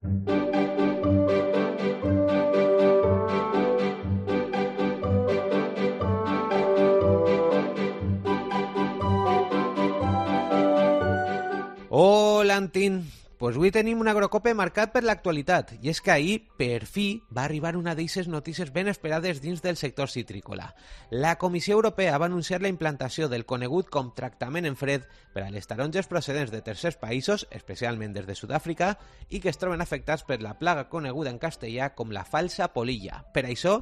Hola, Antín. Pues avui tenim un agrocope marcat per l'actualitat, i és que ahir, per fi, va arribar una d'eixes notícies ben esperades dins del sector citrícola. La Comissió Europea va anunciar la implantació del conegut com tractament en fred per a les taronges procedents de tercers països, especialment des de Sud-àfrica, i que es troben afectats per la plaga coneguda en castellà com la falsa polilla. Per això,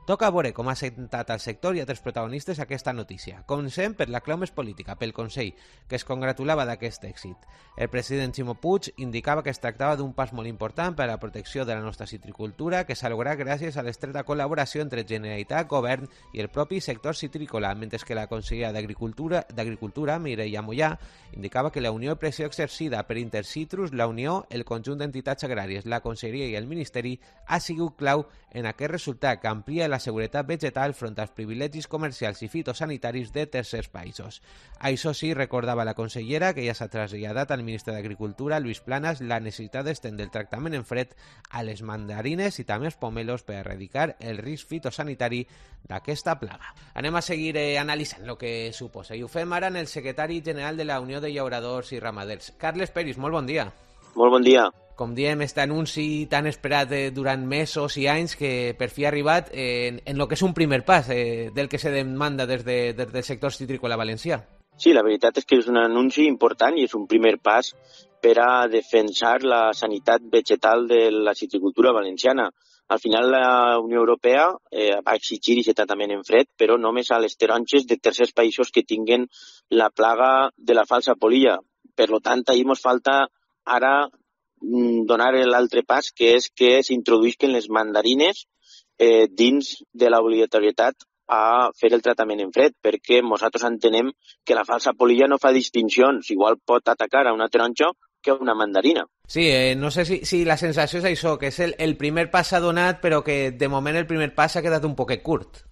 toca veure com ha sentat al sector i a altres protagonistes aquesta notícia. Comencem per la clau més política, pel Consell, que es congratulava d'aquest èxit. El president Ximo Puig indicava que es tractava d'un pas molt important per a la protecció de la nostra citricultura, que s'ha lograt gràcies a l'estreta col·laboració entre Generalitat, Govern i el propi sector citrícola, mentre que la consellera d'Agricultura, Mireia Mollà, indicava que la unió de pressió exercida per Intercitrus, la Unió, el conjunt d'entitats agràries, la Conselleria i el Ministeri ha sigut clau en aquest resultat que amplia la seguretat vegetal front als privilegis comercials i fitosanitaris de tercers països. Això sí, recordava la consellera, que ja s'ha traslladat al ministre d'Agricultura, Lluís Planas, la necessitat d'estendre el tractament en fred a les mandarines i també als pomelos per erradicar el risc fitosanitari d'aquesta plaga. Anem a seguir analitzant el que suposa, i ho fem ara en el secretari general de la Unió de Llauradors i Ramaders. Carles Peris, molt bon dia. Molt bon dia. Com diem, aquest anunci tan esperat durant mesos i anys que per fi ha arribat en el que és un primer pas del que se demanda des del sector citrícola valencià. Sí, la veritat és que és un anunci important i és un primer pas per a defensar la sanitat vegetal de la citricultura valenciana. Al final la Unió Europea va exigir aquest tractament en fred, però només a les taronges de tercers països que tinguen la plaga de la falsa polilla. Per tant, ahir ens falta ara donar l'altre pas, que és que s'introduïsquen les mandarines dins de l'obligatorietat a fer el tractament en fred, perquè nosaltres entenem que la falsa polilla no fa distincions, igual pot atacar a una taronja que a una mandarina. Sí, no sé si la sensació és això, que és el primer pas s'ha donat, però que de moment el primer pas s'ha quedat un poquet curt.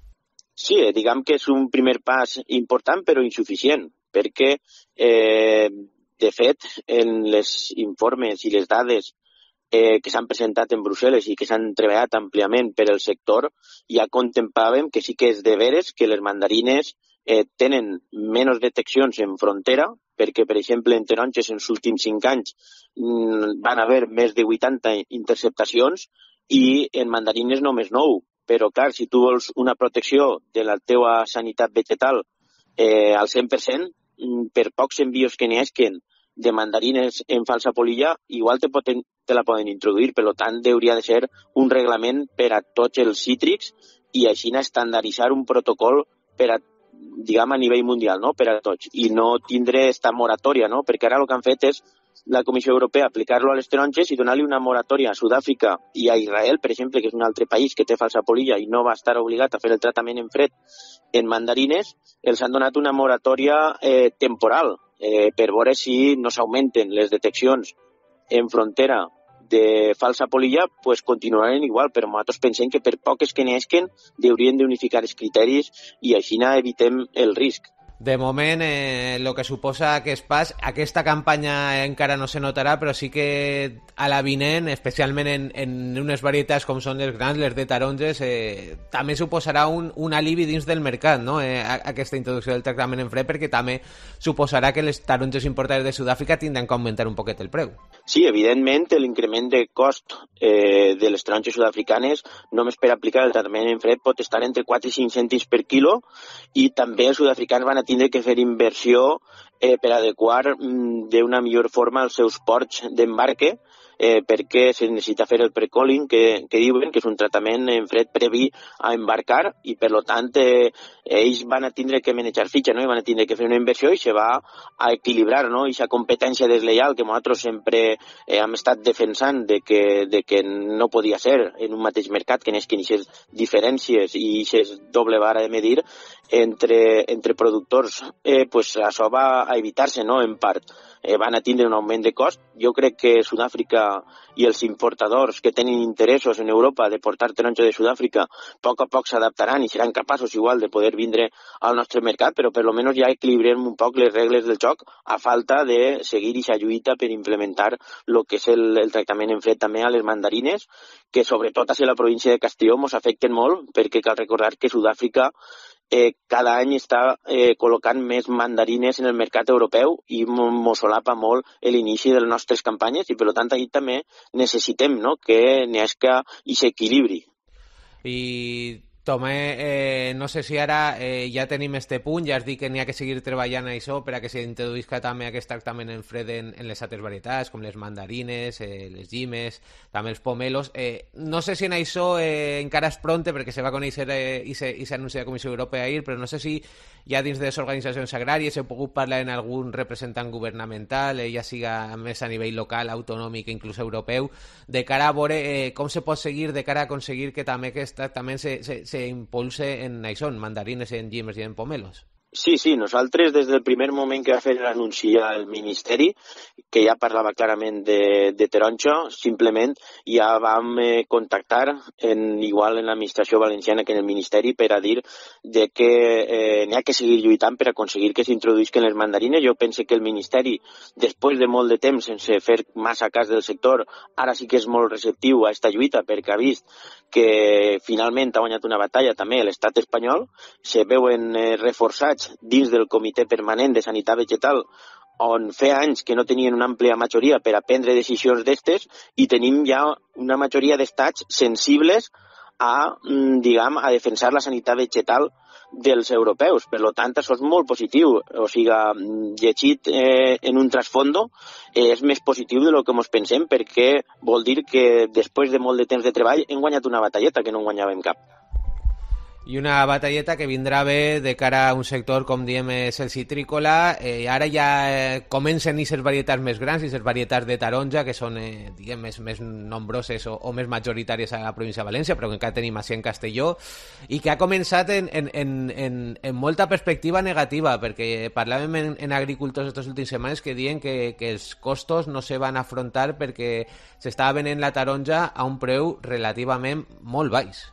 Sí, diguem que és un primer pas important, però insuficient, perquè de fet, en les informes i les dades que s'han presentat en Brussel·les i que s'han treballat àmpliament per el sector, ja contemplàvem que sí que és de veres que les mandarines tenen menys deteccions en frontera, perquè, per exemple, en taronges en els últims 5 anys van haver més de 80 interceptacions i en mandarines només 9. Però, clar, si tu vols una protecció de la teva sanitat vegetal al 100%, per pocs envios que n'hi hagin de mandarines en falsa polilla, igual te la poden introduir. Per tant, hauria de ser un reglament per a tots els cítrics i així estandarditzar un protocol per a, diguem, a nivell mundial, no? Per a tots, i no tindre esta moratòria, no? Perquè ara el que han fet és la Comissió Europea aplicar-lo a les taronges i donar-li una moratòria a Sud-àfrica i a Israel, per exemple, que és un altre país que té falsa polilla i no va estar obligat a fer el tractament en fred en mandarines, els han donat una moratòria temporal per veure si no s'augmenten les deteccions en frontera de falsa polilla, pues continuaran igual, però nosaltres pensem que per poques que n'hi hagin haurien d'unificar els criteris i així evitem el risc. De moment, el que suposa aquest pas, aquesta campanya encara no se notarà, però sí que a la vinent, especialment en unes varietats com són les grans, les de taronges, també suposarà un alivi dins del mercat, no? Aquesta introducció del tractament en fred, perquè també suposarà que les taronges importades de Sud-àfrica tindran que augmentar un poquet el preu. Sí, evidentment, l'increment de cost de les taronges sud-africanes només per aplicar el tractament en fred pot estar entre 4 i 5 cèntims per quilo i també els sud-africans van tindre que fer inversió per adequar d'una millor forma els seus ports d'embarque perquè se necessita fer el pre-calling que diuen, que és un tractament en fred previ a embarcar i per tant ells van tindre que manejar fitxa, no? I van tindre que fer una inversió i se va a equilibrar, no? Aquesta competència deslleial que nosaltres sempre hem estat defensant de que no podia ser en un mateix mercat, que n'hi hagi aquestes diferències i aquesta doble vara de medir entre productors, pues això va a evitar-se, no?, en part. Van a tindre un augment de cost. Jo crec que Sud-àfrica i els importadors que tenen interessos en Europa de portar taronja de Sud-àfrica a poc s'adaptaran i seran capaços igual de poder vindre al nostre mercat, però per lo menos ja equilibrem un poc les regles del joc a falta de seguir aquesta lluita per implementar el que és el tractament en fred també a les mandarines, que sobretot a la província de Castelló ens afecten molt, perquè cal recordar que Sud-àfrica cada any està col·locant més mandarines en el mercat europeu i mos solapa molt l'inici de les nostres campanyes i, per tant, ahí també necessitem, no?, que n'hi hagi aquest equilibri. I Tomé, no sé si ara ja tenim este punt, ja has dit que n'hi ha que seguir treballant a això per a que s'introduïsca també aquest tractament en fred en les altres varietats, com les mandarines, les llimes, també els pomelos. No sé si en això encara és pronte, perquè se va conèixer i s'anuncia la Comissió Europea ahir, però no sé si ja dins de les organitzacions agràries heu pogut parlar amb algun representant governamental, ja siga més a nivell local, autonòmic, inclús europeu, de cara a veure com se pot seguir, de cara a aconseguir que també aquest tractament se impulse en això, en mandarines, en llimes i en pomelos. Sí, nosaltres des del primer moment que va fer l'anunci al Ministeri, que ja parlava clarament de taronja, simplement ja vam contactar igual en l'administració valenciana que en el Ministeri per a dir de que n'hi ha que seguir lluitant per aconseguir que s'introduïsquen les mandarines. Jo penso que el Ministeri, després de molt de temps sense fer massa cas del sector, ara sí que és molt receptiu a aquesta lluita perquè ha vist que finalment ha guanyat una batalla també l'estat espanyol, se veuen reforçats dins del Comitè Permanent de Sanitat Vegetal, on feia anys que no tenien una àmplia majoria per a prendre decisions d'estes i tenim ja una majoria d'estats sensibles a defensar la sanitat vegetal dels europeus. Per tant, això és molt positiu. O sigui, llegit en un trasfondo, és més positiu de lo que ens pensem, perquè vol dir que després de molt de temps de treball hem guanyat una batalleta que no en guanyàvem cap. I una batalleta que vindrà bé de cara a un sector, com diem, és el citrícola. Ara ja comencen aquestes varietats més grans, aquestes varietats de taronja, que són diguem, més nombroses o més majoritàries a la província de València, però que encara tenim així en Castelló, i que ha començat en molta perspectiva negativa, perquè parlàvem en agricultors aquestes últimes setmanes que diuen que els costos no se van afrontar perquè s'estava venent la taronja a un preu relativament molt baix.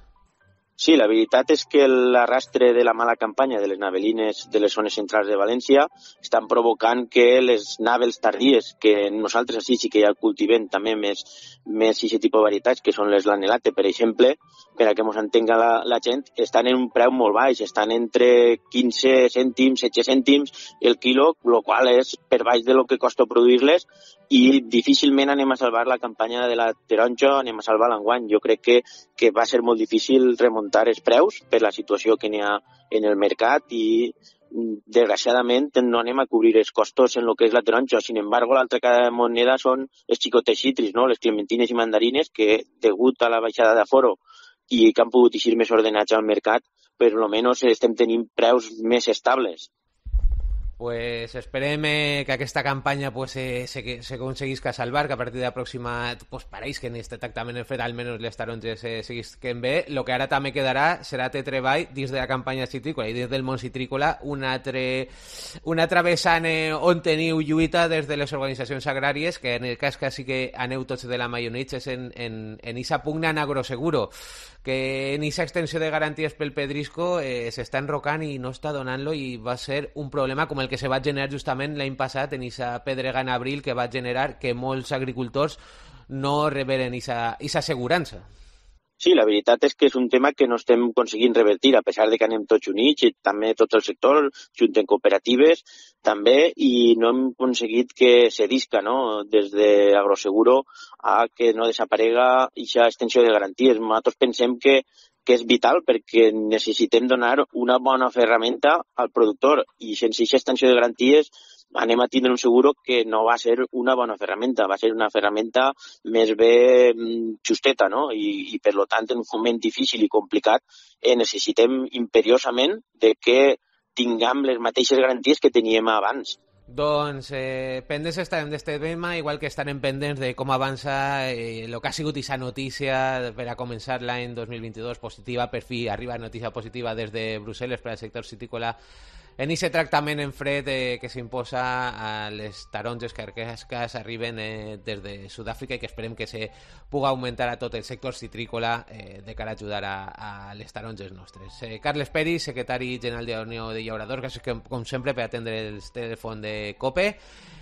Sí, la veritat és que l'arrastre de la mala campanya de les navelines de les zones centrals de València estan provocant que les navels tardies, que nosaltres així sí que ja cultivem també més aquest tipus de varietats, que són les lanelate, per exemple, per a que ens entenga la gent, estan en un preu molt baix, estan entre 15 cèntims, 16 cèntims el quilo, el qual és per baix de lo que costa produir-les, i difícilment anem a salvar la campanya de la taronja, anem a salvar l'enguany. Jo crec que va ser molt difícil remuntar els preus per la situació que n'hi ha en el mercat i desgraciadament no anem a cobrir els costos en el que és la taronja. Sin embargo, l'altra cara de moneda són els xicotes citris, no? Les clementines i mandarines, que degut a la baixada d'aforo i que han pogut eixir més ordenats al mercat, per almenys estem tenint preus més estables. Pues esperem que aquesta campanya pues, se aconseguisca salvar, que a partir de la pròxima pues, pareix que en aquest tractament en fet almenys les taronges seguisquen bé. El que ara també quedarà serà de treball dins de la campanya citrícola i dins del món citrícola un altre vessant on teniu lluita des de les organitzacions agràries, que en el cas que sí que aneu tots de la maionitza és en aquesta pugna en agroseguro, que en aquesta extensió de garanties pel pedrisco s'està enrocant i no està donant-lo, i va ser un problema com el que se va generar justament l'any passat en aquesta pedrega en abril, que va generar que molts agricultors no reberen aquesta assegurança. Sí, la veritat és que és un tema que no estem aconseguint revertir, a pesar de que anem tots units, i també tot el sector, junten cooperatives, també, i no hem aconseguit que cedisca, no?, des d'Agroseguro a que no desaparega aquesta extensió de garanties. Nosaltres pensem que és vital perquè necessitem donar una bona ferramenta al productor, i sense aquesta extensió de garanties anem a tindre un seguro que no va ser una bona ferramenta, va ser una ferramenta més bé justeta, no? I per tant, en un moment difícil i complicat, necessitem imperiosament de que tinguem les mateixes garanties que teníem abans. Doncs pendents estarem d'este tema, igual que estarem pendents de com avança el que ha sigut aquesta notícia per a començar l'any 2022 positiva. Per fi arriba notícia positiva des de Brussel·les per al sector citícola en aquest tractament en fred que s'imposa a les taronges carquesques arriben des de Sud-àfrica i que esperem que se pugui augmentar a tot el sector citrícola de cara a ajudar a les taronges nostres. Carles Peris, secretari general de la Unió de Llauradors, gràcies com sempre per atendre el telèfon de COPE.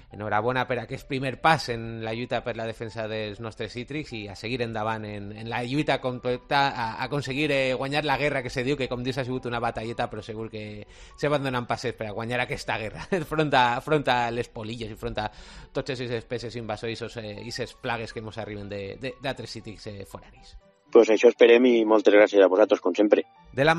Enhorabona per aquest primer pas en la lluita per la defensa dels nostres cítrics i a seguir endavant en la lluita completa, a aconseguir guanyar la guerra que se diu, que com dius ha sigut una batalleta, però segur que se van donant passes per a guanyar aquesta guerra front a les polilles i front a tots aquestes espècies invasors i aquestes plagues que ens arriben d'altres cítrics foranis. Pues això esperem i moltes gràcies a vosaltres, com sempre. De la